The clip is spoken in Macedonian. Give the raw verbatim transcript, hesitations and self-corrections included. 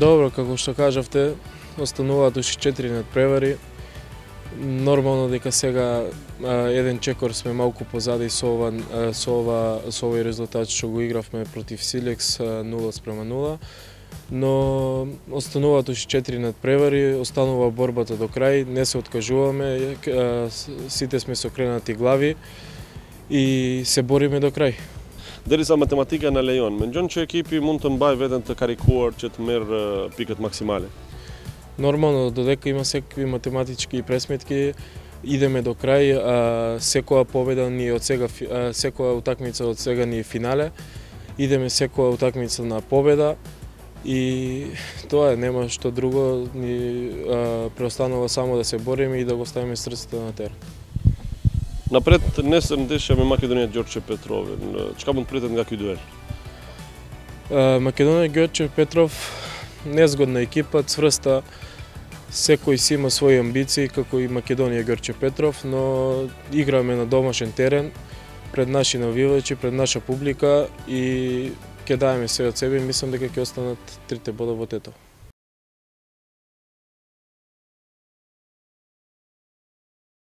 Добро, како што кажавте, остануваат уште четири надпревари. Нормално дека сега еден чекор сме малку позади со ова со ова со овој резултат што го игравме против Силекс нула спрема нула. Но остануваат уште четири надпревари, останува борбата до крај, не се откажуваме, сите сме со кренати глави и се бориме до крај. Derisa matematika na lejon, mendon që ekipi mund të mbajë veten të karikuar që të merr pikët maksimale? Нормално, додека има секакви математички пресметки, идеме до крај, а, секоја победа ни од сега, а, секоја утакмица од сега ни е финале, идеме секоја утакмица на победа и тоа е, нема што друго, ни а, преостанува само да се бориме и да го ставиме срцето на терен. Напред nesër ndeshja me Maqedonia Gjorçe Petrovën. Çka mund pritet nga ky duel? Македонија Ѓорче Петров незгодна екипа, цврста, секој си има своји амбиции, како и Македонија Ѓорче Петров, но играме на домашен терен, пред наши навивачи, пред наша публика и ќе даеме се од себе и мислам дека ќе останат трите бода во тето.